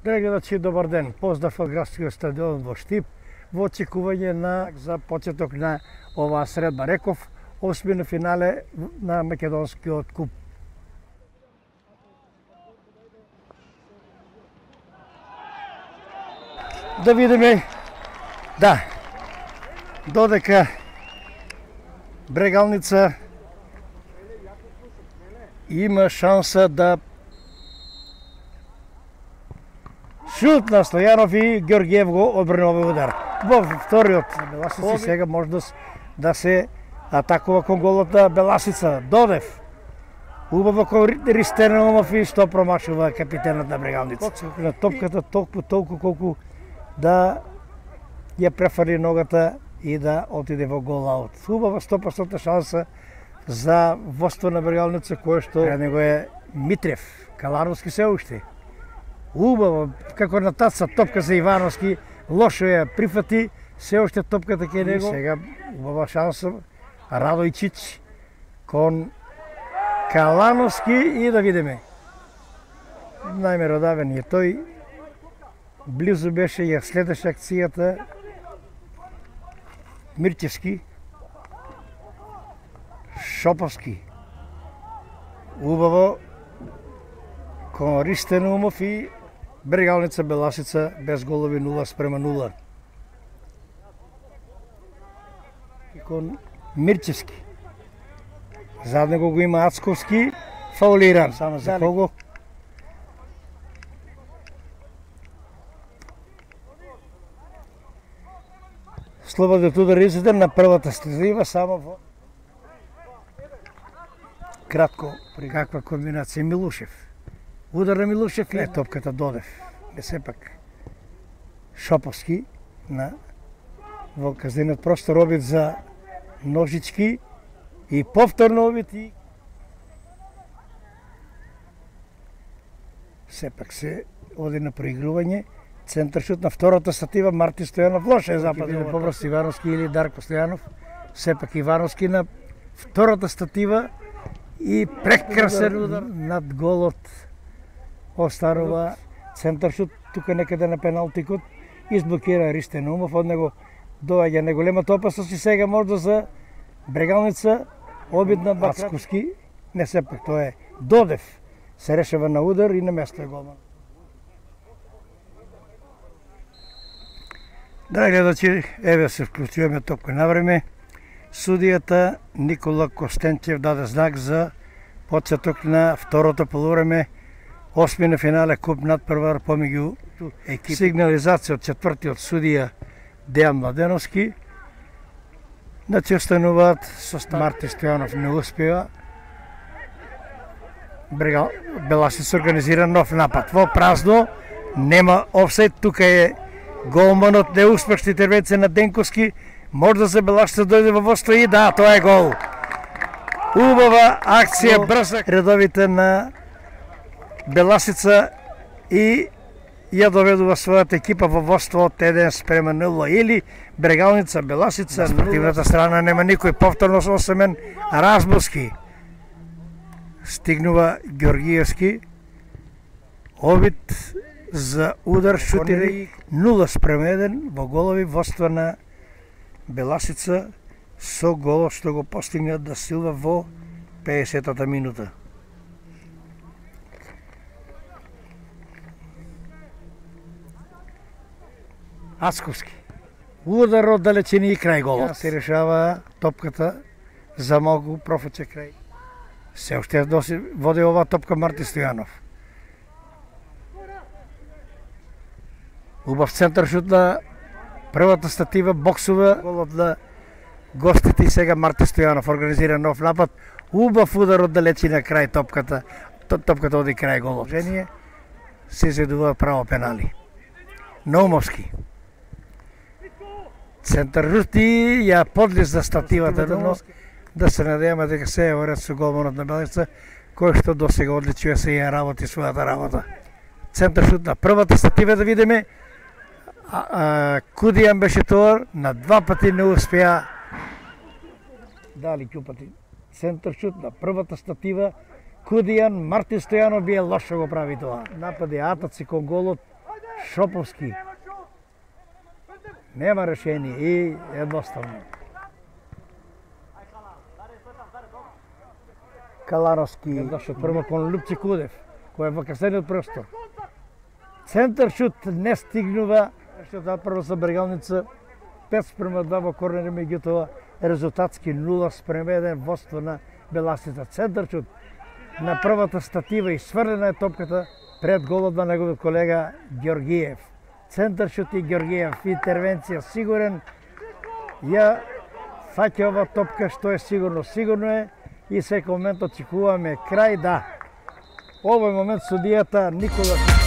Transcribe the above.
Гледачи, добар ден. Поздрав од градскиот стадион во Штип во очекување за почеток на оваа средба. Реков, осмина финале на македонскиот куп. Да видиме, да, додека Брегалница има шанса да шут на Стојанов и Георгиев го одбрани овој удар. Во вториот Беласици сега може да се атакува кон голот на Беласица. Додев. Убаво кон Ристеномов и што промашува капитенот на Брегалница. На топката толку колку да ја префарли ногата и да отиде во гол аут. Убава 100% шанса за водство на Брегалница, кое што пред него е Митрев. Калановски се уште. Убаво, како на таца топка за Ивановски, лошо ја прифати, се уште топката ке него. Сега убава шанса Радојчич кон Калановски и да видиме. Најмеродавен е тој. Близу беше, ја следеше акцијата Мирчевски, Шоповски. Убаво кон Ристенумов и Брегалница Беласица без голови 0:0. И кон Мирчевски. Зад него го има Ацковски, фаулиран. Само за кого? Слободен удар изеден на првата стезива, само во кратко при каква комбинација Милушев. Удар на Милушев и топката Додев. Не сепак Шоповски во казнениот простор обид за Ножички и повторно обид и сепак се оди на проигрување. Центар шут на втората статива Марти Стојанов. Лоше е западен поврст Ивановски или Дарко Стојанов. Сепак Ивановски на втората статива и прекрасен удар над голот останува центар шут тука некаде на пеналтикот. Изблокира Ристенумов, од него доаѓа неголемата опасност и сега можда за Брегалница обид на Бацковски. Не сепак тоа е Додев. Се решава на удар и на место е голман. Драги гледачи, еве се вклучуваме топка на време. Судијата Никола Костенчев даде знак за почеток на второто полувреме, осмина финале куп надпревар помеѓу екипи. Сигнализација од четвртиот судија Дејан Младеновски. Значи остануваат состав. Марти Стојанов не успева. Беласица организира нов напад. Во празно, нема офсайд, тука е голманот, неуспешна интервенција на Денковски, може да се Беласица дојде во водство и да, тоа е гол. Убава акција, брза. Редовите на Беласица и ја доведува својата екипа во водство од 1:0 или Брегалница Беласица. На спортивната страна нема никој, повторно со Семен Разбовски. Стигнува Георгиевски. Обид за удар, шутири 0:1 во голови водство на Беласица со голот што го постигна да Силва во 50-та минута. Ацковски. Удар од далечина и крај голот. Се решава топката за малку профуче крај. Се уште води оваа топка Марти Стојанов. Убав центар шут на првата статива, боксува голот на гостите и сега Марти Стојанов организира нов напад. Убав удар од далечина крај топката. Топката оди крај голот. Жение се изедува право пенали. Наумовски. Центар шут и ја подлиза стативата, но да се надеваме дека се е оред со голманот на Беласица, кој што досега одличува се ја работи својата работа. Центар шут на првата статива, да видиме. Кудијан беше тоа, на два пати не успеа. Дали ќупати центар шут на првата статива. Кудијан, Марти Стојанов бие лошо го прави тоа. Напади атаци кон голот Шоповски. Нема решение и едноставно. Калановски, прво кон Лупци Кудев, кој е во касениот простор. Центар шут не стигнува, што таа прва со Брегалница 5:2 во корнер, меѓутоа резултатски 0:1 водство на Беласица. Центар шут на првата статива и сврлена е топката пред голот на неговиот колега Ѓоргиев. Центар шут и Ѓоргиев, интервенција сигурен, ја фаќа ова топка што е сигурно. Сигурно е и секој момент очекуваме крај, да. Овој момент судијата Никола